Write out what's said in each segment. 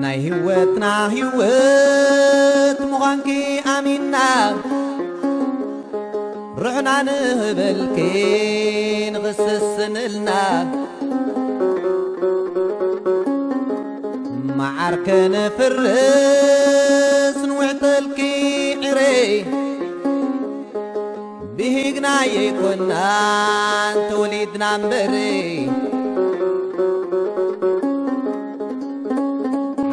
ናይ ህይወትና ህይወት ምዃንኪ ኣሚንና፣ ርሕና ንህበልኪ ንኽስስንልና፣ መዓር ከነፍርስ ንውዕተልኪ ዕረይ። ብሂግና የይኮናን ተወሊድና እምበሪ፣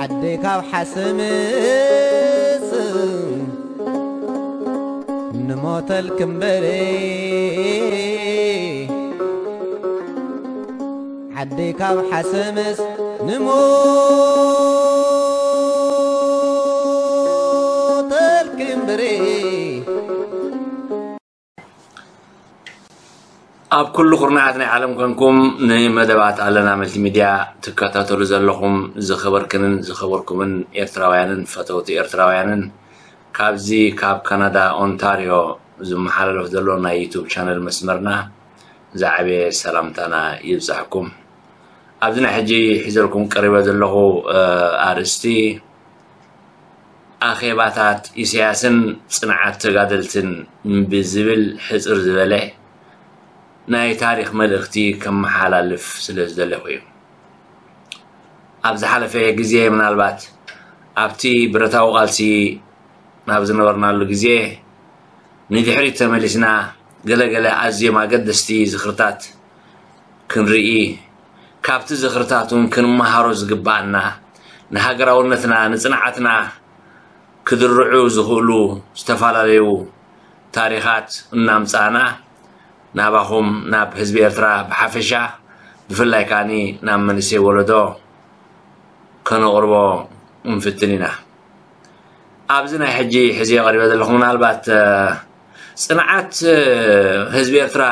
ዓደይ ካብ ሓሰምስ ንሞተልኪ እምበሪ፣ ዓደይ ካብ ሓሰምስ ንሞተልኪ እምበሪ። ኣብ ኩሉ ኩርናዓት ናይ ዓለም ኮንኩም ንመደባት ኣለና መልቲሚድያ ትከታተሉ ዘለኹም ዝኸበርክንን ዝኸበርኩምን ኤርትራውያንን ፈተውቲ ኤርትራውያንን፣ ካብዚ ካብ ካናዳ ኦንታርዮ ዝመሓላለፍ ዘሎ ናይ ዩቱብ ቻነል መስመርና ዝዓበየ ሰላምታና ይብጻሕኩም። ኣብዚ ናይ ሕጂ ሒዘልኩም ቀሪበ ዘለኹ፣ እ፣ ኣርእስቲ፣ ኣኼባታት ኢሳያስን ጽንዓት ተጋደልትን ብዝብል ሕጽር ዝበለ ናይ ታሪኽ መልእኽቲ ከመሓላልፍ ስለ ዝደለኹ እዩ። ኣብ ዝሓለፈ ግዜ፣ ምናልባት ኣብቲ ብረታዊ ቃልሲ ናብ ዝነበርናሉ ግዜ፣ ንድሕሪት ተመሊስና ገለገለ ኣዝዮም ኣገደስቲ ዝኽርታት ክንርኢ፣ ካብቲ ዝኽርታት እውን ክንመሃሮ ዝግብኣና፣ ንሃገራውነትና፣ ንጽንዓትና ክድርዑ ዝኽእሉ ዝተፈላለዩ ታሪኻት እናምጻእና፣ ናባኹም፣ ናብ ህዝቢ ኤርትራ ብሓፈሻ፣ ብፍላይ ከኣኒ ናብ መንእሰይ ወለዶ ከነቕርቦ ንፍትን ኢና። ኣብዚ ናይ ሕጂ ሕዚ ቀሪበ ዘለኹ፣ ምናልባት፣ እ፣ ጽንዓት፣ እ፣ ህዝቢ ኤርትራ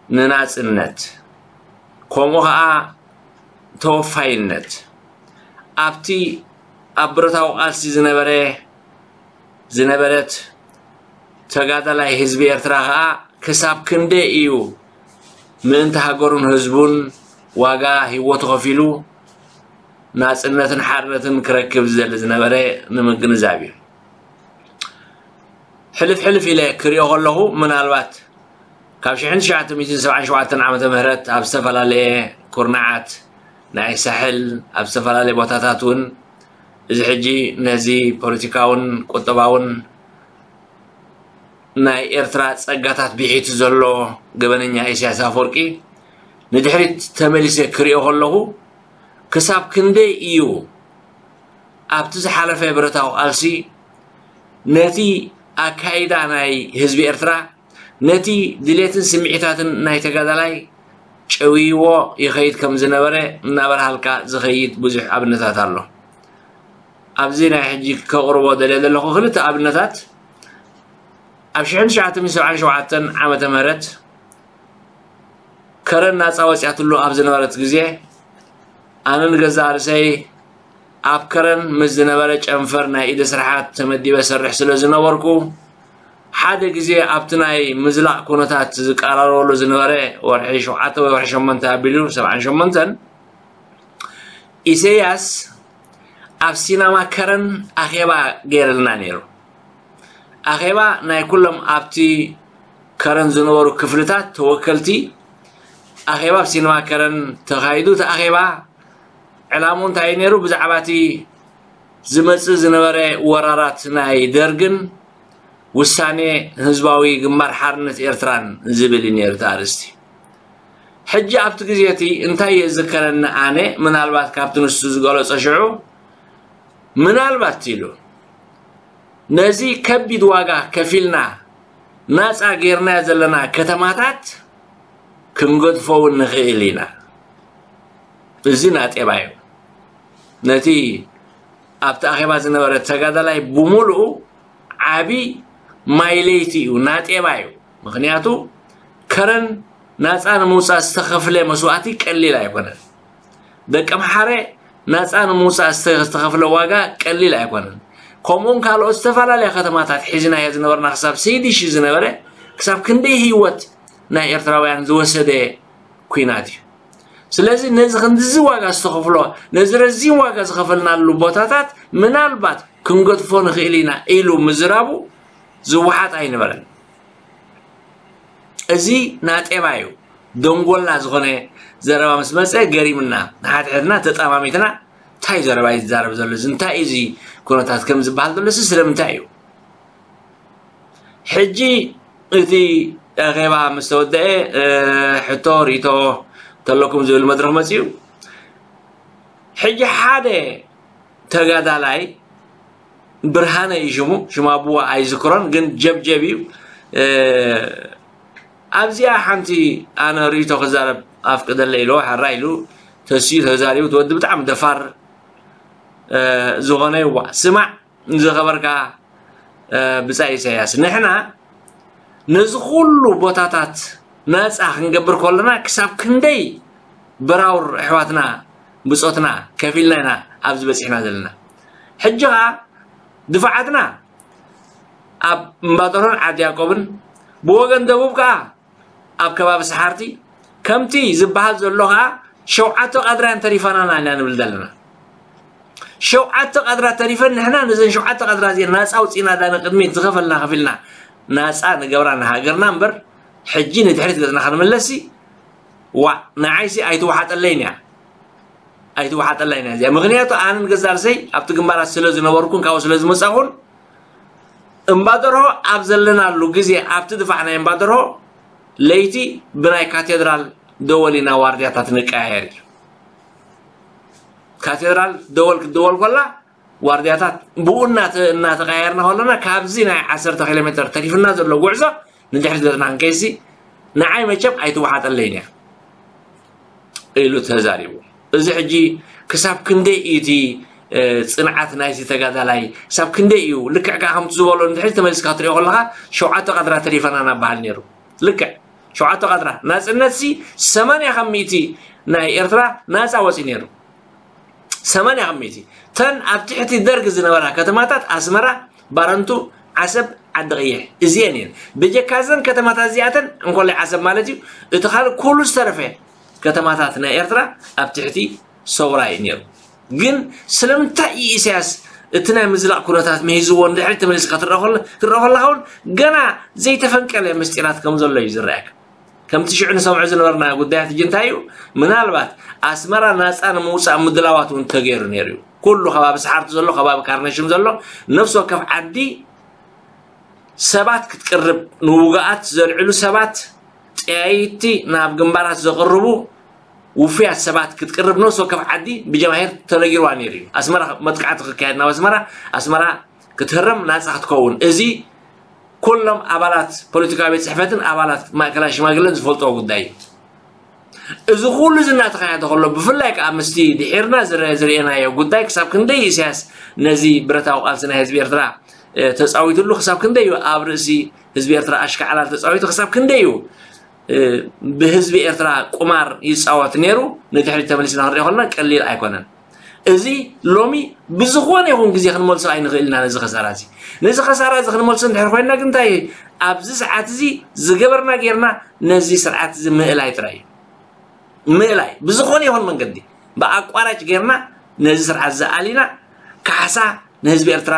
ንናጽነት፣ ከምኡ ኸኣ ተወፋይነት፣ ኣብቲ ኣብ ብረታዊ ቃልሲ ዝነበረ፣ ዝነበረት ተጋዳላይ ህዝቢ ኤርትራ ኸኣ ክሳብ ክንደይ እዩ ምእንቲ ሃገሩን ህዝቡን ዋጋ ህይወቱ ከፊሉ ናጽነትን ሓርነትን ክረክብ ዝደሊ ዝነበረ ንምግንዛብ እዩ። ሕልፍ ሕልፍ ኢለ ክሪኦ ከለኹ፣ ምናልባት ካብ ሽሕን ትሽዓተ ሚእትን ሰብዓን ሸውዓተን ዓመተ ምህረት ኣብ ዝተፈላለየ ኩርናዓት ናይ ሳሕል፣ ኣብ ዝተፈላለየ ቦታታት እውን፣ እዚ ሕጂ ነዚ ፖለቲካውን ቁጠባውን ናይ ኤርትራ ጸጋታት ብሒቱ ዘሎ ገበነኛ ኢሳያስ ኣፈወርቂ ንድሕሪት ተመሊሰ ክሪኦ ከለኹ፣ ክሳብ ክንደይ እዩ ኣብቲ ዝሓለፈ ብረታዊ ቃልሲ ነቲ ኣካይዳ ናይ ህዝቢ ኤርትራ፣ ነቲ ድሌትን ስምዒታትን ናይ ተጋዳላይ ጨውይዎ ይኸይድ ከም ዝነበረ እናበርሃልካ ዝኸይድ ብዙሕ ኣብነታት ኣሎ። ኣብዚ ናይ ሕጂ ከቕርቦ ደልየ ዘለኹ ክልተ ኣብነታት፣ ኣብ ሽሕን ትሽዓተ ሚእትን ሰብዓን ሸውዓተን ዓመተ ምህረት ከረን ናጻ ወጺኣትሉ ኣብ ዝነበረት ግዜ፣ ኣነ ንገዛእ ርእሰይ ኣብ ከረን ምስ ዝነበረ ጨንፈር ናይ ኢደ ስራሓት ተመዲበ ሰርሕ ስለ ዝነበርኩ፣ ሓደ ግዜ ኣብቲ ናይ ምዝላቕ ኩነታት ዝቀራረበሉ ዝነበረ ወርሒ ሸውዓተ ወይ ወርሒ ሸሞንተ ኣቢሉ፣ ሰብዓን ሸሞንተን፣ ኢሰያስ ኣብ ሲናማ ከረን ኣኼባ ገይርልና ነይሩ። ኣኼባ ናይ ኩሎም ኣብቲ ከረን ዝነበሩ ክፍልታት ተወከልቲ ኣኼባ ኣብ ሲነማ ከረን ተኻይዱ። እቲ ኣኼባ ዕላምኡ እንታይ እዩ ነይሩ? ብዛዕባ እቲ ዝመጽእ ዝነበረ ወራራት ናይ ደርግን ውሳኔ ህዝባዊ ግንባር ሓርነት ኤርትራን ዝብል እዩ ነይሩ እቲ ኣርእስቲ። ሕጂ ኣብቲ ግዜ እቲ እንታይ የዝከረኒ ኣነ፣ ምናልባት ካብቲ ንሱ ዝገለጾ ሽዑ፣ ምናልባት ኢሉ፣ ነዚ ከቢድ ዋጋ ከፊልና ናጻ ጌርናዮ ዘለና ከተማታት ክንገድፎ እውን ንኽእል ኢና። እዚ ናጤባ እዩ። ነቲ ኣብቲ ኣኼባ ዝነበረ ተጋዳላይ ብምሉኡ ዓቢ ማይ ለይቲ እዩ፣ ናጤባ እዩ። ምኽንያቱ ከረን ናጻ ንምውጻእ ዝተኸፍለ መስዋእቲ ቀሊል ኣይኮነን። ደቂ ኣምሓረ ናፃ ንምውፃእ ዝተ- ዝተኸፍለ ዋጋ ቀሊል ኣይኮነን። ከምኡውን ካልኦት ዝተፈላለያ ከተማታት ሒዝናዮ ዝነበርና ክሳብ ስይድሽ ዝነበረ ክሳብ ክንደይ ህይወት ናይ ኤርትራውያን ዝወሰደ ኲናት እዩ። ስለዚ ነዚ ክንድዚ ዋጋ ዝተኸፍሎ ነዚ ረዚን ዋጋ ዝኸፈልናሉ ቦታታት ምናልባት ክንገድፎ ንኽእል ኢና ኢሉ ምዝራቡ ዝወሓጥ ኣይነበረን። እዚ ናጤባ እዩ። ደንጎላ ዝኾነ ዘረባ ምስ መፀ ገሪምና ንሓድሕድና ተጣማሚትና እንታይ ዘረባ እዩ ዝዛረብ ዘሎ እዚ እንታይ እዩ እዚ ኩነታት ከም ዝበሃል ዘሎ እዚ ስለምንታይ እዩ? ሕጂ እቲ ኣኼባ ምስ ተወደአ ሕቶ ርእቶ ተለኩም ዝብል መድረኽ መፅኡ። ሕጂ ሓደ ተጋዳላይ ብርሃነ እዩ ሽሙ፣ ሽም ኣቡዋ ኣይዝክሮን ግን ጀብጀብ እዩ። ኣብዚኣ ሓንቲ ኣነ ርእቶ ክዛረብ ኣፍቅደለ ኢልዎ ሓራ ኢሉ ተስዩ ተዛሪቡ። እቲ ወዲ ብጣዕሚ ደፋር ዝኾነ ይዋ ስማዕ ዝኸበርካ ብጻይ ኢሳያስ፣ ንሕና ነዚ ኩሉ ቦታታት ናጻ ክንገብር ከለና ክሳብ ክንደይ በራውር ኣሕዋትና ብጾትና ከፊልና ኢና ኣብዚ በጺሕና ዘለና። ሕጂ ኸኣ ድፋዓትና ኣብ እምባጠሮን ዓዲ ያቆብን ብወገን ደቡብ ከኣ ኣብ ከባቢ ሰሓርቲ ከምቲ ዝበሃል ዘሎ ከኣ ሸውዓተ ቀድራን ተሪፋናና ኢና ንብል ዘለና። ሸውዓተ ቀድራ ተሪፈን ንሕና ነዘን ሸውዓተ ቀድራ እዚአን ናፃ ኣውፂእና ዳ ንቅድሚት ዝኸፈልና ከፊልና ናፃ ንገብራ ንሃገርና እምበር ሕጂ ንድሕሪት ገፅና ክንምለስሲ ዋዕ ንዓይሲ ኣይትወሓጠለይን እያ። ኣይትወሓጠለይን እያ እዚኣ። ምክንያቱ ኣነ ንገዛእ ርእሰይ ኣብቲ ግንባራት ስለ ዝነበርኩን ካብኡ ስለ ዝመፃኹን እምባደርሆ ኣብ ዘለናሉ ግዜ ኣብቲ ድፋዕ ናይ እምባደርሆ ለይቲ ብናይ ካቴድራል ደወል ኢና ዋርድያታት ንቀያየር እዩ። ካቴድራል ደወል ክትደወል ኮላ ዋርድያታት ብኡ እናተ- እናተቀያየርና ከለና ካብዚ ናይ ዓሰርተ ኪሎ ሜትር ተሪፍና ዘሎ ጉዕዞ ንድሕሪት ገፅና ክንከይሲ ንዓይ መቸም ኣይትወሓጠለይን እያ ኢሉ ተዛሪቡ። እዚ ሕጂ ክሳብ ክንደይ እዩ እቲ ጽንዓት ናይዚ ተጋዳላይ ክሳብ ክንደይ እዩ ልክዕ ከዓ ከምቲ ዝበሎ እንድሕሪ ተመሊስካ ትሪኦ ከለካ ሸውዓተ ቀድራ ተሪፈና እናበሃል ነይሩ። ልክዕ ሸውዓተ ቀድራ ናፅነት ሲ ሰማንያ ካብ ሚእቲ ናይ ኤርትራ ናፃ ወፂ ነይሩ። ሰማንያ ካብ ሚእቲ ተን ኣብ ትሕቲ ደርግ ዝነበራ ከተማታት ኣስመራ፣ ባረንቱ፣ ዓሰብ፣ ዓዲ ቀይሕ እዚአን እየን። ብጀካ እዘን ከተማታት እዚኣተን እንኮላይ ዓሰብ ማለት እዩ እቲ ካልእ ኩሉ ዝተረፈ ከተማታት ናይ ኤርትራ ኣብ ትሕቲ ሰውራ እዩ ነይሩ። ግን ስለምንታይ እዩ ኢሳያስ እቲ ናይ ምዝላቕ ኩነታት መሂዝዎ ንድሕሪት ተመሊስካ ክትረኦ ከለካ እውን ገና ዘይተፈንቀለ ምስጢራት ከም ዘሎ እዩ ዝረኣየካ። ከምቲ ሽዑ ንሰምዖ ዝነበርና ጉዳያት ሕጂ እንታይ እዩ ምናልባት ኣስመራ ናፃ ንምውፃእ ምድላዋት እውን ተገይሩ ነይሩ እዩ። ኩሉ ከባቢ ሰሓርቲ ዘሎ ከባቢ ካርነሽም ዘሎ ነፍሲ ወከፍ ዓዲ ሰባት ክትቅርብ ንውጉኣት ዘልዕሉ ሰባት ጠያይቲ ናብ ግንባራት ዘቕርቡ ውፉያት ሰባት ክትቅርብ ነፍሲ ወከፍ ዓዲ ብጀማሂር ተነጊርዋ ነይሩ እዩ። ኣስመራ መጥቃዕቲ ክካየድ ናብ ኣስመራ ኣስመራ ክትህረም ናፃ ክትከውን እዚ ኩሎም ኣባላት ፖለቲካዊ ቤት ፅሕፈትን ኣባላት ማእከላይ ሽማግለን ዝፈልጥዎ ጉዳይ እዩ። እዚ ኩሉ እዚ እናተኻየደ ከሎ ብፍላይ ከዓ ምስቲ ድሒርና ዝረ- ዝርኤናዮ ጉዳይ ክሳብ ክንደይ ኢሳያስ ነዚ ብረታዊ ቃልሲ ናይ ህዝቢ ኤርትራ ተፃዊትሉ ክሳብ ክንደይ እዩ ኣብ ርእሲ ህዝቢ ኤርትራ ኣሽካዕላል ተፃዊቱ ክሳብ ክንደይ እዩ ብህዝቢ ኤርትራ ቁማር ይፃወት ነይሩ ንድሕሪት ተመሊስና ክንሪኦ ከለና ቀሊል ኣይኮነን። እዚ ሎሚ ብዝኾነ ይኹን ግዜ ክንመልሶ ኣይንኽእል ኢና ነዚ ከሳራ እዚ። ነዚ ከሳራ እዚ ክንመልሶ እንድሕር ኮይንና ግን እንታይ ኣብዚ ሰዓት እዚ ዝገበርና ጌርና ነዚ ስርዓት እዚ ምእላይ ጥራይ እዩ። ምእላይ ብዝኾነ ይኹን መንገዲ ብኣቋራጭ ጌርና ነዚ ስርዓት እዚ ኣሊና ካሕሳ ንህዝቢ ኤርትራ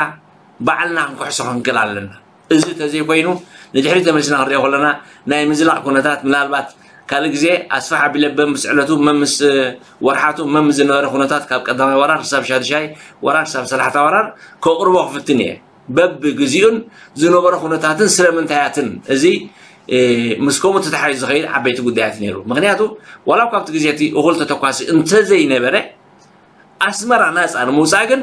ባዕልና ክንክሕሶ ክንክእል ኣለና። እዚ ተዘይኮይኑ ንድሕሪት ተመሊስና ክንሪኦ ከለና ናይ ምዝላቕ ኩነታት ምናልባት ካልእ ግዜ ኣስፍሕ ኣቢለ በምስ ዕለቱ መምስ ወርሓቱ መምስ ዝነበረ ኩነታት ካብ ቀዳማይ ወራር ክሳብ ሻድሻይ ወራር ክሳብ ሰላሕታ ወራር ከቕርቦ ክፍትን እየ። በብግዚኡን ዝነበረ ኩነታትን ስለምንታያትን እዚ ምስ ከምኡ ተታሓሒዙ ዝኸይድ ዓበይቲ ጉዳያት ነይሩ። ምክንያቱ ዋላ ካብቲ ግዜ እቲ እኹል ተተኳሲ እንተዘይነበረ ኣስመራ ናፃ ንምውፃእ ግን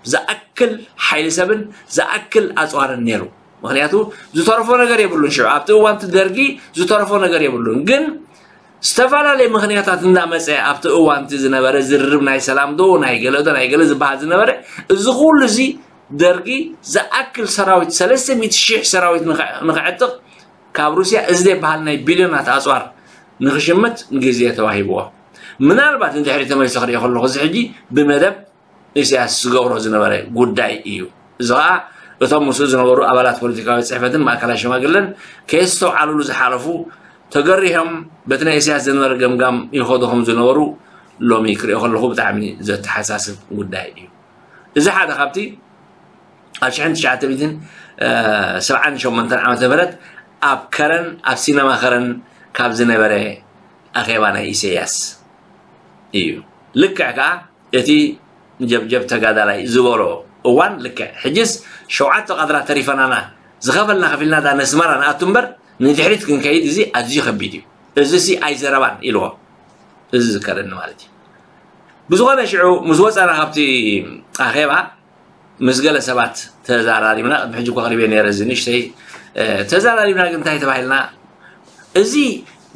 ዝኣክል ሓይሊ ሰብን ዝኣክል ኣፅዋርን ነይሩ። ምክንያቱ ዝተረፎ ነገር የብሉን። ሽዑ ኣብቲ እዋንቲ ደርጊ ዝተረፎ ነገር የብሉን። ግን ዝተፈላለየ ምክንያታት እንዳመፀ ኣብቲ እዋንቲ ዝነበረ ዝርርብ ናይ ሰላም ዶ ናይ ገለ ዶ ናይ ገለ ዝበሃል ዝነበረ እዚ ኩሉ እዚ ደርጊ ዝኣክል ሰራዊት ሰለስተ ሚእቲ ሺሕ ሰራዊት ንኸ- ንኸዕጥቕ ካብ ሩስያ እዚ ዘይበሃል ናይ ቢልዮናት ኣፅዋር ንክሽምት ግዜ ተዋሂብዎ። ምናልባት ንድሕሪ ተመሊሰ ክሪኦ ከለኹ፣ እዚ ሕጂ ብመደብ ኢሳያስ ዝገብሮ ዝነበረ ጉዳይ እዩ። እዚ ኸዓ እቶም ምስኡ ዝነበሩ ኣባላት ፖለቲካዊ ጽሕፈትን ማእከላይ ሸማግለን ከየስተውዓሉሉ ዝሓለፉ፣ ተገሪሆም በቲ ናይ ኢሳያስ ዝነበረ ገምጋም ይኸዱ ከም ዝነበሩ ሎሚ ክሪኦ ከለኹ ብጣዕሚ ዘተሓሳስብ ጉዳይ እዩ። እዚ ሓደ ካብቲ ኣብ ሽሕን ትሽዓተ ሚእትን ሰብዓን ሸሞንተን ዓመተ ምህረት ኣብ ከረን፣ ኣብ ሲነማ ከረን ካብ ዝነበረ ኣኼባ ናይ ኢሳያስ እዩ። ልክዕ ከኣ እቲ ጀብጀብ ተጋዳላይ ዝበሎ እዋን ልክዕ። ሕጅስ ሸውዓተ ቃድራ ተሪፈናና፣ ዝኸፈልና ከፊልና ዳ ነስመራ ንኣቱ እምበር ንድሕሪት ክንከይድ እዚ ኣዝዩ ከቢድ እዩ። እዚ ሲ ኣይዘረባን ኢልዎ። እዚ ዝከረኒ ማለት እዩ። ብዝኾነ ሽዑ ምስ ወጸና ካብቲ ኣኼባ ምስ ገለ ሰባት ተዛራሪብና። ቅድሚ ሕጂ እኮ ኣቕሪበ ነይረ እዚ ንእሽተይ፣ እ፣ ተዛራሪብና። ግን እንታይ ተባሂልና፣ እዚ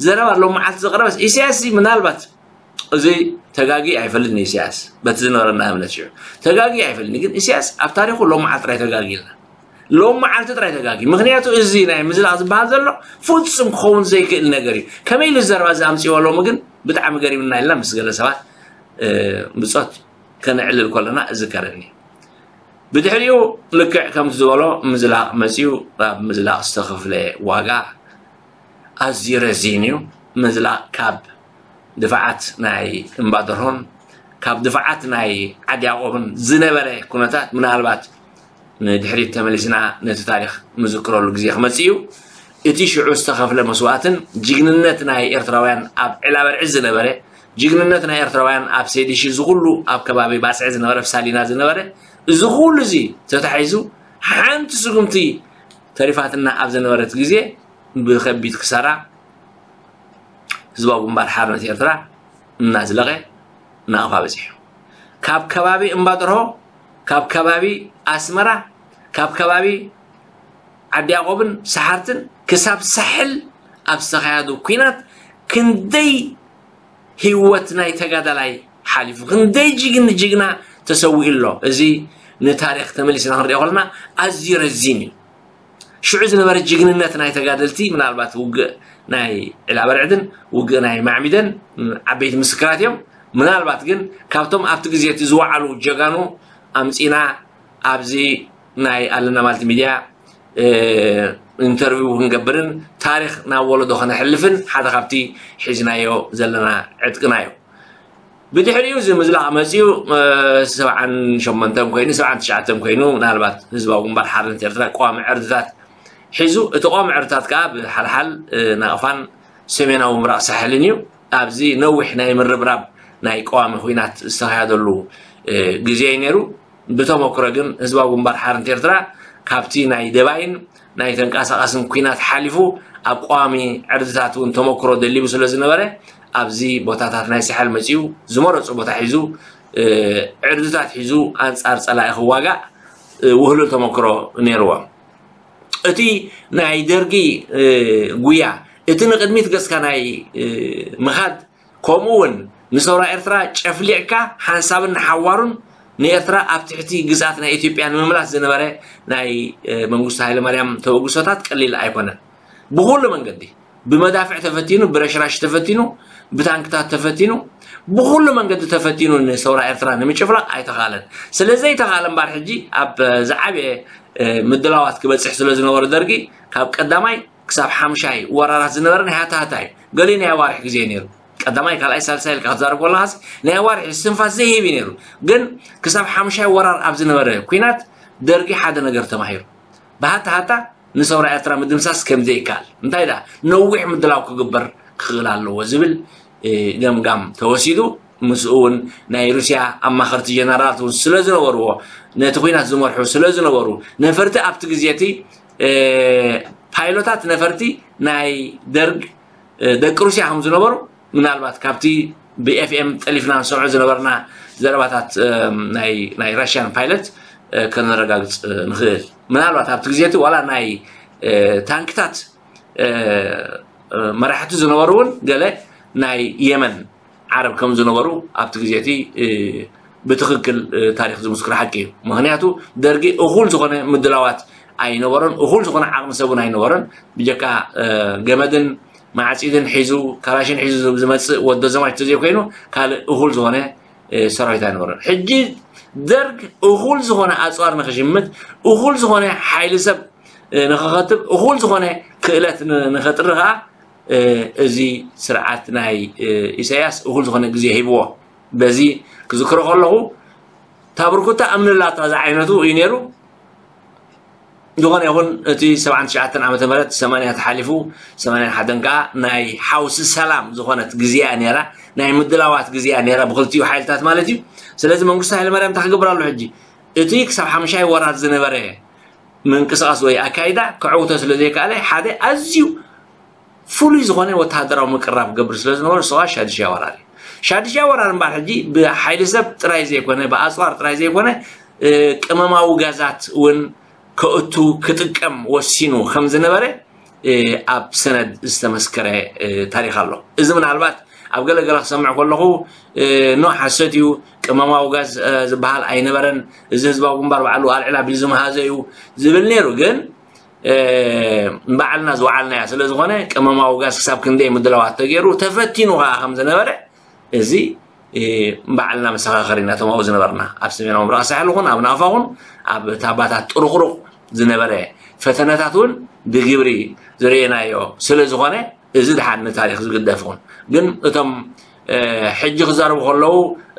ዘረባ ሎም መዓልቲ ዘቕረበስ ኢሳያስ ምናልባት እዚ ተጋጊ ኣይፈልጥን። ኢሳያስ በቲ ዝነበረና እምነት ሽዑ ተጋጊ ኣይፈልጥን። ግን ኢሳያስ ኣብ ታሪኹ ሎም መዓልቲ ጥራይ ተጋጊ ኢልና። ሎም መዓልቲ ጥራይ ተጋጊ። ምኽንያቱ እዚ ናይ ምዝላቕ ዝበሃል ዘሎ ፍጹም ክኸውን ዘይክእል ነገር እዩ። ከመይ ኢሉ ዘረባ እዚ ኣምጽእዎ ሎሚ ግን ብጣዕሚ ገሪምና ኢልና ምስ ገለ ሰባት፣ እ፣ ብጾት ከነዕልል ከለና እዝከረኒ። ብድሕሪኡ ልክዕ ከምቲ ዝበሎ ምዝላቕ መጺኡ፣ ኣብ ምዝላቕ ዝተኸፍለ ዋጋ ኣዝዩ ረዚን እዩ። ምዝላቕ ካብ ድፋዓት ናይ እምባደርሆን ካብ ድፋዓት ናይ ዓዲ ያዕቆብን ዝነበረ ኩነታት ምናልባት ንድሕሪት ተመሊስና ነቲ ታሪኽ ንዝክረሉ ግዜ ክመጽእ እዩ። እቲ ሽዑ ዝተኸፍለ መስዋእትን ጅግንነት ናይ ኤርትራውያን ኣብ ዕላበርዒ ዝነበረ፣ ጅግንነት ናይ ኤርትራውያን ኣብ ሰይድሺ፣ እዚ ኩሉ ኣብ ከባቢ ባጽዕ ዝነበረ፣ ኣብ ሳሊና ዝነበረ፣ እዚ ኩሉ እዚ ተታሒዙ ሓንቲ ስጉምቲ ተሪፋትና ኣብ ዝነበረት ግዜ ብኸቢድ ክሳራ ህዝባዊ ግንባር ሓርነት ኤርትራ እናዝለቐ ናቕፋ በጺሑ። ካብ ከባቢ እምባጥርሆ፣ ካብ ከባቢ ኣስመራ፣ ካብ ከባቢ ዓዲ ያዕቆብን ሰሓርትን ክሳብ ሳሕል ኣብ ዝተኻየዱ ኲናት ክንደይ ህይወት ናይ ተጋዳላይ ሓሊፉ፣ ክንደይ ጅግን ጅግና ተሰዊኡ ኣሎ። እዚ ንታሪኽ ተመሊስና ክንሪኦ ከለና ኣዝዩ ረዚን እዩ። ሽዑ ዝነበረ ጅግንነት ናይ ተጋደልቲ ምናልባት ውግእ ናይ ዒላበርዕድን ውግእ ናይ ማዕሚደን ዓበይቲ ምስክራት እዮም። ምናልባት ግን ካብቶም ኣብቲ ግዜ እቲ ዝወዓሉ ጀጋኑ ኣምጺና ኣብዚ ናይ ኣለና ማልቲ ሚድያ፣ እ፣ ኢንተርቪው ክንገብርን ታሪኽ ናብ ወለዶ ከነሕልፍን ሓደ ካብቲ ሒዝናዮ ዘለና ዕጥቅና እዩ። ብድሕሪኡ እዚ ምዝላቕ መጺኡ፣ እ፣ ሰብዓን ሸሞንተን ኮይኑ፣ ሰብዓን ትሽዓተን ኮይኑ፣ ምናልባት ህዝባዊ ግንባር ሓርነት ኤርትራ ቀዋሚ ዕርድታት ሒዙ፣ እቲ ቀዋሚ ዕርድታት ከኣ ብሓልሓል፣ እ፣ ናቕፋን ሰሜናዊ ምብራቕ ሳሕልን እዩ። ኣብዚ ነዊሕ ናይ ምርብራብ ናይ ቀዋሚ ኹናት ዝተኻየደሉ፣ እ፣ ግዜ እዩ ነይሩ። ብተመክሮ ግን ህዝባዊ ግንባር ሓርነት ኤርትራ ካብቲ ናይ ደባይን ናይ ተንቀሳቓስን ኲናት ሓሊፉ ኣብ ቀዋሚ ዕርድታት እውን ተመክሮ ደሊቡ ስለ ዝነበረ ኣብዚ ቦታታት ናይ ሳሕል መጺኡ ዝመረጾ ቦታ ሒዙ፣ እ፣ ዕርድታት ሒዙ ኣንጻር ጸላኢ ክዋጋእ፣ እ፣ ውህሉል ተመክሮ ነይርዎ። እቲ ናይ ደርጊ፣ እ፣ ጉያ፣ እቲ ንቕድሚት ገጽካ ናይ፣ እ፣ ምኻድ፣ ከምኡ እውን ንሰውራ ኤርትራ ጨፍሊቕካ ሓንሳብን ንሓዋሩን ንኤርትራ ኣብ ትሕቲ ግዝኣት ናይ ኢትዮጵያ ንምምላስ ዝነበረ ናይ፣ እ፣ መንግስቱ ሃይለማርያም ተበግሶታት ቀሊል ኣይኮነን። ብኹሉ መንገዲ፣ ብመዳፍዕ ተፈቲኑ፣ ብረሽራሽ ተፈቲኑ፣ ብታንክታት ተፈቲኑ፣ ብኹሉ መንገዲ ተፈቲኑ ንሰውራ ኤርትራ ንምጭፍላቕ ኣይተኻለን። ስለ ዘይተኻለ እምበኣር ሕጂ ኣብ ዝዓበየ፣ እ፣ ምድላዋት ክበጽሕ ስለ ዝነበሮ ደርጊ ካብ ቀዳማይ ክሳብ ሓምሻይ ወራራት ዝነበረ ናይ ሃታሃታ እዩ። ገሊኡ ናይ ኣዋርሕ ግዜ እዩ ነይሩ። ቀዳማይ፣ ካልኣይ፣ ሳልሳይ ኢልካ ክትዛረብ ከለኻስ ናይ ኣዋርሕ እስትንፋስ ዘይህብ እዩ ነይሩ። ግን ክሳብ ሓምሻይ ወራር ኣብ ዝነበረ ኲናት ደርጊ ሓደ ነገር ተማሂሩ። ብሃታሃታ ንሰውራ ኤርትራ ምድምሳስ ከም ዘይከኣል፣ እንታይ ደኣ ነዊሕ ምድላው ክግበር ክኽእል ኣለዎ ዝብል፣ እ፣ ገምጋም ተወሲዱ። ምስኡ እውን ናይ ሩስያ ኣማኸርቲ ጀነራላት እውን ስለ ዝነበርዎ፣ ነቲ ኲናት ዝመርሑ ስለ ዝነበሩ፣ ነፈርቲ ኣብቲ ግዜ እቲ፣ እ፣ ፓይሎታት ነፈርቲ ናይ ደርግ፣ እ፣ ደቂ ሩስያ ከም ዝነበሩ ምናልባት ካብቲ ብ ኤፍ ኤም ጠሊፍና ንሰምዖ ዝነበርና ዘረባታት፣ እ፣ ናይ፣ ናይ ራሽያን ፓይለት፣ እ፣ ከነረጋግጽ፣ እ፣ ንኽእል። ምናልባት ኣብቲ ግዜ እቲ ዋላ ናይ፣ እ፣ ታንክታት፣ እ፣ እ፣ መራሕቲ ዝነበሩ እውን ገለ ናይ የመን ዓረብ ከም ዝነበሩ ኣብቲ ግዜ እቲ፣ እ፣ ብትኽክል፣ እ፣ ታሪኽ ዝምስክሮ ሓቂ እዩ። ምኽንያቱ ደርጊ እኹል ዝኾነ ምድላዋት ኣይነበሮን፣ እኹል ዝኾነ ዓቕሚ ሰብ እውን ኣይነበሮን። ብጀካ፣ እ፣ ገመድን ማዕፂድን ሒዙ ካላሽን ሒዙ ዝመፅእ ወዶ ዘማች ተዘይኮይኑ ካልእ እኹል ዝኾነ ሰራዊት ኣይነበረን። ሕጂ ደርግ እኹል ዝኾነ ኣፅዋር ንክሽምት፣ እኹል ዝኾነ ሓይሊ ሰብ ንክኸትብ፣ እኹል ዝኾነ ክእለት ንኸጥሪ ከዓ እዚ ስርዓት ናይ ኢሳያስ እኹል ዝኾነ ግዜ ሂብዎ። በዚ ክዝክሮ ከለኹ ታብርኩታ እምንላታ ዝዓይነቱ እዩ ነይሩ። ዝኾነ ይኹን እቲ ሰብዓን ትሽዓተን ዓመተ ምህረት ሰማንያ ተሓሊፉ ሰማንያን ሓደን ከዓ ናይ ሓውሲ ሰላም ዝኾነት ግዜያ ነይራ፣ ናይ ምድላዋት ግዜያ ነይራ ብክልቲኡ ሓይልታት ማለት እዩ። ስለዚ መንግስቱ ሃይለማርያም እንታይ ክገብር ኣሎ ሕጂ? እቲ ክሳብ ሓምሻይ ወራር ዝነበረ ምንቅስቃስ ወይ ኣካይዳ ክዕውቶ ስለ ዘይከኣለ ሓደ ኣዝዩ ፍሉይ ዝኾነ ወተሃደራዊ ምቅራብ ክገብር ስለ ዝነበረ ንሱ ከዓ ሻድሻይ ወራር እዩ። ሻድሻይ ወራር እምበኣር ሕጂ ብሓይሊ ሰብ ጥራይ ዘይኮነ ብኣፅዋር ጥራይ ዘይኮነ ቅመማዊ ጋዛት እውን ከእቱ ክጥቀም ወሲኑ ከም ዝነበረ ኣብ ሰነድ ዝተመስከረ ታሪክ ኣሎ። እዚ ምናልባት ኣብ ገለ ገለ ክሰምዕ ከለኹ ኖ ሓሰት እዩ፣ ቅመማዊ ጋዝ ዝበሃል ኣይነበረን፣ እዚ ህዝባዊ ግንባር ባዕሉ ኣልዕል ኣቢሉ ዝመሃዘ እዩ ዝብል ነይሩ። ግን ባዕልና ዝወዓልናያ ስለ ዝኾነ ቅመማዊ ጋዝ ክሳብ ክንደይ ምድላዋት ተገይሩ ተፈቲኑ ከዓ ከም ዝነበረ እዚ ባዕልና መሰኻኸሪ ኢና፣ እቶም ኣብኡ ዝነበርና ኣብ ሰሜናዊ ምብራቕ ሳሕል ኹን ኣብ ናቕፋ ኹን ኣብ ታባታት ጥሩቕሩቕ ዝነበረ ፈተነታት እውን ብግብሪ ዝርእናዮ ስለ ዝኾነ እዚ ድሓን ንታሪክ ዝግደፍ ይኹን። ግን እቶም ሕጂ ክዛረቡ ከለዉ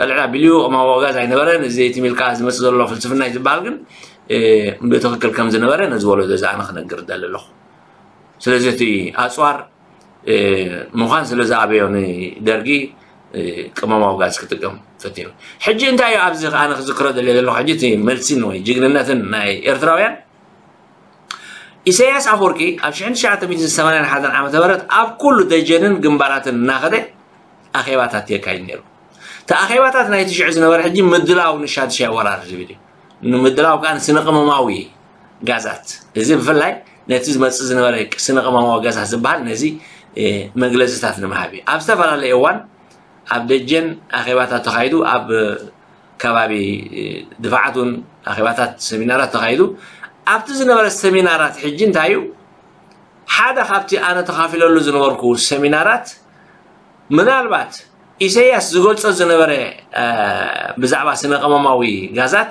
ልዕል ኣቢሉ ቅመማዊ ጋዝ ኣይነበረን፣ እዚ ትም ኢልካ ዝመፅእ ዘሎ ፍልስፍና እዩ ዝበሃል ግን ብትኽክል ከም ዝነበረ ነዚ ወለዶ እዚ ኣነ ክነግር እደሊ ኣለኹ። ስለዚ እቲ ኣፅዋር ምዃን ስለ ዝኣበዮ ንደርጊ ቅመማዊ ጋዝ ክጥቀም ፈቲኑ። ሕጂ እንታይ እዩ ኣብዚ ኣነ ክዝክሮ ደልየ ዘለኹ ሕጂ እቲ መልሲን ወይ ጅግንነትን ናይ ኤርትራውያን ኢሳያስ ኣፈወርቂ ኣብ ሽሕን ትሽዓተ ሚእትን ሰማንያን ሓደን ዓመተ ምህረት ኣብ ኩሉ ደጀንን ግንባራትን እናኸደ ኣኼባታት የካይድ ነይሩ። እቲ ኣኼባታት ናይቲ ሽዑ ዝነበረ ሕጂ ምድላው ንሻድሻይ ወራር ዝብል እዩ። ንምድላው ከዓ ንስነ ቅመማዊ ጋዛት፣ እዚ ብፍላይ ነቲ ዝመፅእ ዝነበረ ስነ ቅመማዊ ጋዛት ዝበሃል ነዚ መግለፅታት ንምሃብ እዩ። ኣብ ዝተፈላለየ እዋን ኣብ ደጀን ኣኼባታት ተኻይዱ፣ ኣብ ከባቢ ድፋዓት እውን ኣኼባታት ሰሚናራት ተኻይዱ። ኣብቲ ዝነበረ ሰሚናራት ሕጂ እንታይ እዩ ሓደ ካብቲ ኣነ ተኻፊለሉ ዝነበርኩ ሰሚናራት ምናልባት ኢሳያስ ዝገልጾ ዝነበረ ብዛዕባ ስነ ቅመማዊ ጋዛት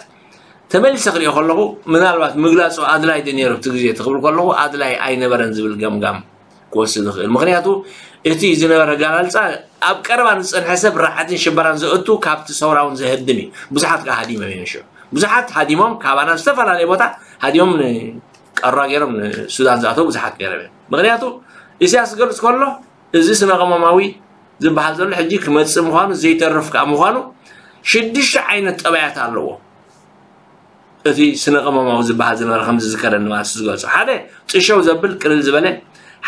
ተመሊሰ ክሪኦ ከለኹ ምናልባት ምግላጹ ኣድላይ ዶ ነይሩ ኣብቲ ግዜ እቲ ክብል ከለኹ ኣድላይ ኣይነበረን ዝብል ገምጋም ክወስድ ይኽእል። ምኽንያቱ እቲ ዝነበረ ኣገላልጻ ኣብ ቀረባ ንዝጸንሐ ሰብ ራዕድን ሽበራን ዘእቱ ካብቲ ሰውራውን ዘህድም እዩ። ብዙሓት ከኣ ሃዲሞም እዮም ሽዑ። ብዙሓት ሃዲሞም ካባና ዝተፈላለየ ቦታ ሃዲሞም ንቀራ ገይሮም ንሱዳን ዝኣተው ብዙሓት ገይሮም እዮም። ምኽንያቱ ኢሳያስ ዝገልጽ ከሎ እዚ ስነ ቅመማዊ ዝበሃል ዘሎ ሕጂ ክመጽእ ምዃኑ ዘይተርፍ ከኣ ምዃኑ ሽዱሽተ ዓይነት ጠባያት ኣለዎ። እቲ ስነ ቅመማዊ ዝበሃል ዝነበረ ከምዚ ዝከረኒ ማለት ዝገልጾ ሓደ ጥሸው ዘብል ቅልል ዝበለ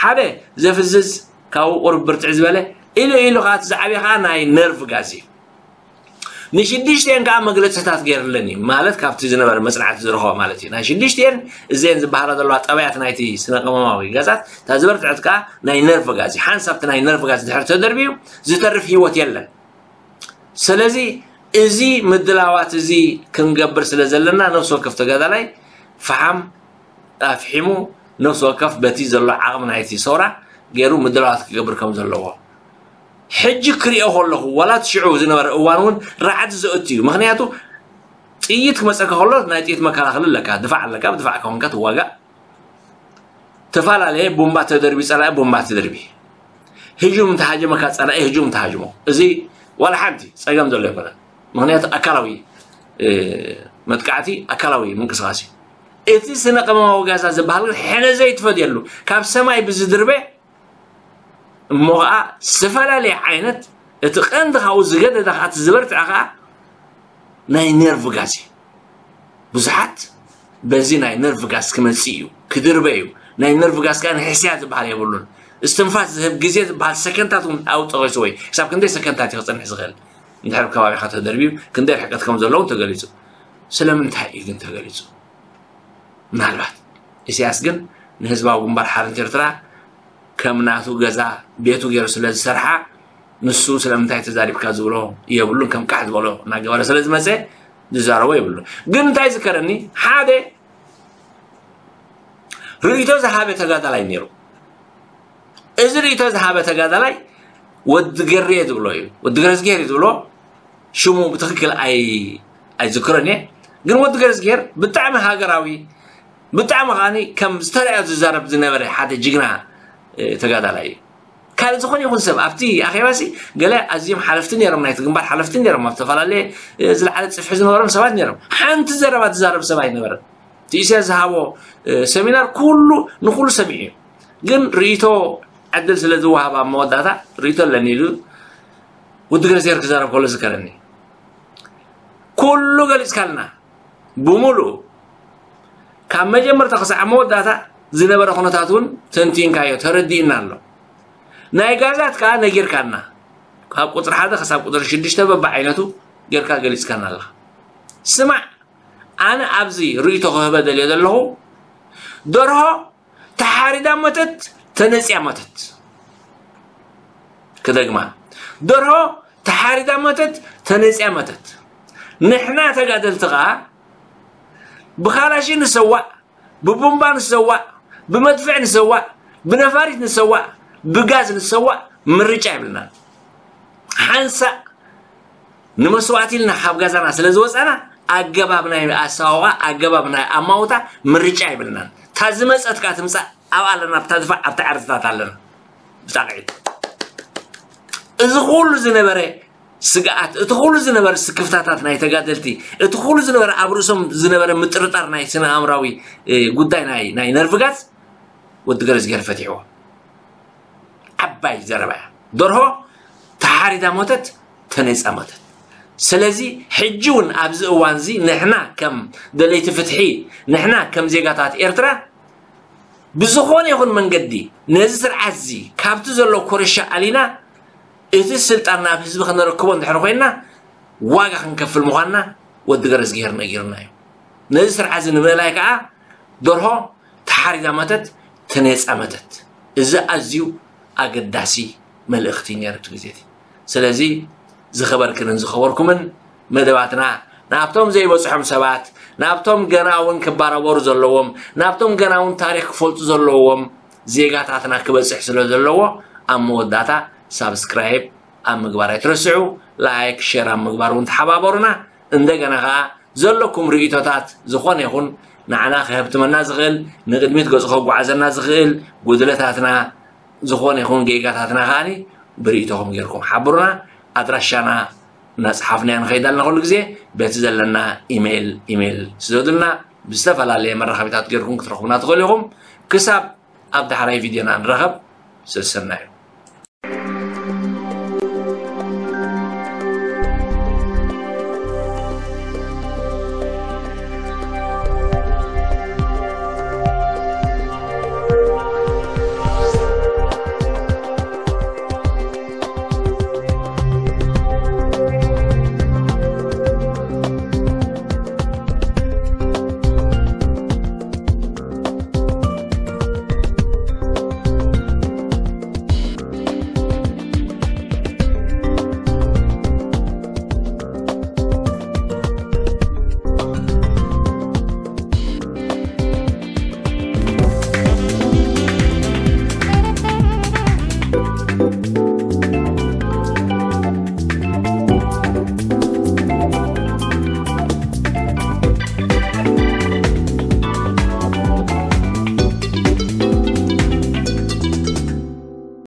ሓደ ዘፍዝዝ ካብኡ ቁርብ ብርትዕ ዝበለ ኢሉ ኢሉ ከዓ እቲ ዝዓብየ ከዓ ናይ ነርቭ ጋዝ እዩ። ንሽዱሽተን ከዓ መግለፅታት ገይርለን እዩ ማለት ካብቲ ዝነበረ መፅናዕቲ ዝረኸቦ ማለት እዩ። ናይ ሽዱሽተን እዘን ዝበሃላ ዘለዋ ጠባያት ናይቲ ስነ ቅመማዊ ጋዛት እታ ዝበርትዐት ከዓ ናይ ነርቭ ጋዝ እዩ። ሓንሳብ እቲ ናይ ነርቭ ጋዝ ድሕር ተደርብዩ ዝተርፍ ህይወት የለን። ስለዚ እዚ ምድላዋት እዚ ክንገብር ስለ ዘለና ነፍሲ ወከፍ ተጋዳላይ ፈሓም ኣፍሒሙ ነፍሲ ወከፍ በቲ ዘሎ ዓቕሚ ናይቲ ሰውራ ገይሩ ምድላዋት ክገብር ከም ዘለዎ ሕጂ ክሪኦ ከለኹ ዋላ እቲ ሽዑ ዝነበረ እዋን እውን ራዕዲ ዘእቱ እዩ። ምክንያቱ ጥይት ክመፀካ ከሎ ናይ ጥይት መከላኸሊ ኣለካ፣ ድፋዕ ኣለካ፣ ብድፋዕ ከኾንካ ትዋጋእ። ተፈላለየ ቡምባ ተደርቢ ጸላኢ ቡምባ ተደርቢ ህጁም እንተሃጀመካ ጸላኢ ህጁም እንተሃጅሞ እዚ ዋላ ሓንቲ ጸገም ዘሎ ኣይኮነን። ምክንያቱ ኣካላዊ መጥቃዕቲ ኣካላዊ ምንቅስቃስ እዩ። እቲ ስነ ቅመማዊ ጋዛ ዝበሃል ግን ሕነ ዘይትፈድየሉ ካብ ሰማይ ብዝድርበ እሞ ከዓ ዝተፈላለየ ዓይነት እቲ ቀንዲ ካብኡ ዝገደደ ከዓ እቲ ዝበርትዐ ከዓ ናይ ነርቭ ጋዝ እዩ። ብዙሓት በዚ ናይ ነርቭ ጋዝ ክመፅእ እዩ ክድርበ እዩ። ናይ ነርቭ ጋዝ ከዓ ንሕስያ ዝበሃል የብሉን። እስትንፋስ ዝህብ ግዜ ዝበሃል ሰከንታት እውን ኣብኡ ጠቂሱ ወይ ክሳብ ክንደይ ሰከንታት እዩ ክፀንሕ ዝኽእል እንድሕር ከባቢካ ተደርብዩ ክንደይ ርሕቀት ከም ዘለውን ተገሊፁ። ስለምንታይ እዩ ግን ተገሊፁ? ምናልባት ኢሳያስ ግን ንህዝባዊ ግንባር ሓርነት ኤርትራ ከም ናቱ ገዛ ቤቱ ገይሩ ስለ ዝሰርሓ ንሱ ስለምንታይ ተዛሪብካ ዝብሎ የብሉን። ከም ቃሕ ዝበሎ እናገበረ ስለ ዝመፀ ዝዛረቦ የብሉን። ግን እንታይ ዝከረኒ ሓደ ርእይቶ ዝሃበ ተጋዳላይ ነይሩ። እዚ ርእይቶ ዝሃበ ተጋዳላይ ወዲ ገሬ ዝብሎ እዩ። ወዲ ገረዝጌር እዩ ዝብሎ። ሽሙ ብትኽክል ኣይ ኣይዝክሮን እየ። ግን ወዲ ገረዝጌር ብጣዕሚ ሃገራዊ፣ ብጣዕሚ ከዓኒ ከም ዝተረኣዮ ዝዛረብ ዝነበረ ሓደ ጅግና ተጋዳላይ እዩ። ካልእ ዝኾነ ይኹን ሰብ ኣብቲ ኣኼባሲ ገለ ኣዝዮም ሓለፍቲ ነይሮም፣ ናይቲ ግንባር ሓለፍቲ ነይሮም፣ ኣብ ዝተፈላለየ ዝለዓለ ጽፍሒ ዝነበሮም ሰባት ነይሮም። ሓንቲ ዘረባ ዝዛረብ ሰብ ኣይነበረን። እቲ ኢሳያስ ዝሃቦ ሰሚናር ኩሉ ንኩሉ ሰሚዑ እዩ። ግን ርእይቶ ዕድል ስለ ዝወሃብ ኣብ መወዳእታ ርእይቶ ኣለኒ ኢሉ ውዲ ገረዝጌር ክዛረብ ከሎ ዝከረኒ ኩሉ ገሊጽካልና ብሙሉኡ ካብ መጀመርታ ክሳዕ መወዳእታ ዝነበረ ኩነታት እውን ተንቲንካዮ ተረዲእና ኣሎ። ናይ ጋዛት ከኣ ነጊርካና ካብ ቁፅሪ ሓደ ክሳብ ቁፅሪ ሽዱሽተ በብዓይነቱ ጌርካ ገሊፅካና ኣለኻ። ስማዕ ኣነ ኣብዚ ርእይቶ ክህበ ደልየ ዘለኹ ደርሆ ተሓሪዳ ሞተት ተነፅያ ሞተት። ክደግማ ደርሆ ተሓሪዳ ሞተት ተነፅያ ሞተት። ንሕና ተጋደልቲ ከዓ ብኻላሺ ንሰዋእ፣ ብቡምባ ንሰዋእ፣ ብመድፍዕ ንሰዋእ፣ ብነፋሪት ንሰዋእ፣ ብጋዝ ንሰዋእ ምርጫ የብልናን። ሓንሳእ ንመስዋእቲ ኢልና ካብ ገዛና ስለ ዝወፃና ኣገባብ ናይ ኣሰዋውኣ ኣገባብ ናይ ኣማውታ ምርጫ የብልናን። እታ ዝመፀት ከዓ ትምፃእ ኣብኣ ኣለና፣ ኣብታ ድፋዕ ኣብታ ዓርትታት ኣለና። ብጣቕዒት እዚ ኩሉ ዝነበረ ስግኣት፣ እቲ ኩሉ ዝነበረ ስክፍታታት ናይ ተጋደልቲ፣ እቲ ኩሉ ዝነበረ ኣብ ርእሶም ዝነበረ ምጥርጣር ናይ ስነ ኣእምራዊ ጉዳይ ናይ ናይ ነርቭጋዝ ወዲ ገረዝጌር ፈትሕዎ። ዓባይ ዘረባ እያ። ደርሆ ተሓሪዳ ሞተት ተነይፃ ሞተት። ስለዚ ሕጂ እውን ኣብዚ እዋን እዚ ንሕና ከም ደለይቲ ፍትሒ፣ ንሕና ከም ዜጋታት ኤርትራ ብዝኾነ ይኹን መንገዲ ነዚ ስርዓት እዚ ካብቲ ዘሎ ኮረሻ ኣሊና እቲ ስልጣን ናብ ህዝቢ ከነረክቦ እንድሕር ኮይንና ዋጋ ክንከፍል ምዃንና ወዲ ገረዝግሄር ነጊርና እዩ። ነዚ ስርዓት እዚ ንምእላይ ከዓ ደርሆ ተሓሪዳ መተት ተነይፃ መተት። እዚ ኣዝዩ ኣገዳሲ መልእኽቲ ነይሩ እቲ ግዜ እቲ። ስለዚ ዝኸበርክንን ዝኸበርኩምን መደባትና ናብቶም ዘይበፅሖም ሰባት፣ ናብቶም ገና እውን ክባራበሩ ዘለዎም፣ ናብቶም ገና እውን ታሪክ ክፈልጡ ዘለዎም ዜጋታትና ክበፅሕ ስለ ዘለዎ ኣብ መወዳእታ ሳብስክራይብ ኣብ ምግባር ኣይትረስዑ፣ ላይክ ሸር ኣብ ምግባር እውን ተሓባበሩና። እንደገና ከዓ ዘለኩም ርእይቶታት ዝኾነ ይኹን ንዓና ክህብትመና ዝኽእል፣ ንቕድሚት ገፁ ከጓዓዘና ዝኽእል ጉድለታትና ዝኾነ ይኹን ጌጋታትና ከዓኒ ብርእይቶኹም ጌርኩም ሓብሩና። ኣድራሻና እናፅሓፍናዮ ንኸይድ ኣለና ኩሉ ግዜ በቲ ዘለና ኢሜይል ኢሜይል ስደዱልና። ብዝተፈላለየ መራኸቢታት ጌርኩም ክትረኽቡና ትኽእሉ ኢኹም። ክሳብ ኣብ ዳሕራይ ቪድዮና ንራኸብ። ሰሰናዩ።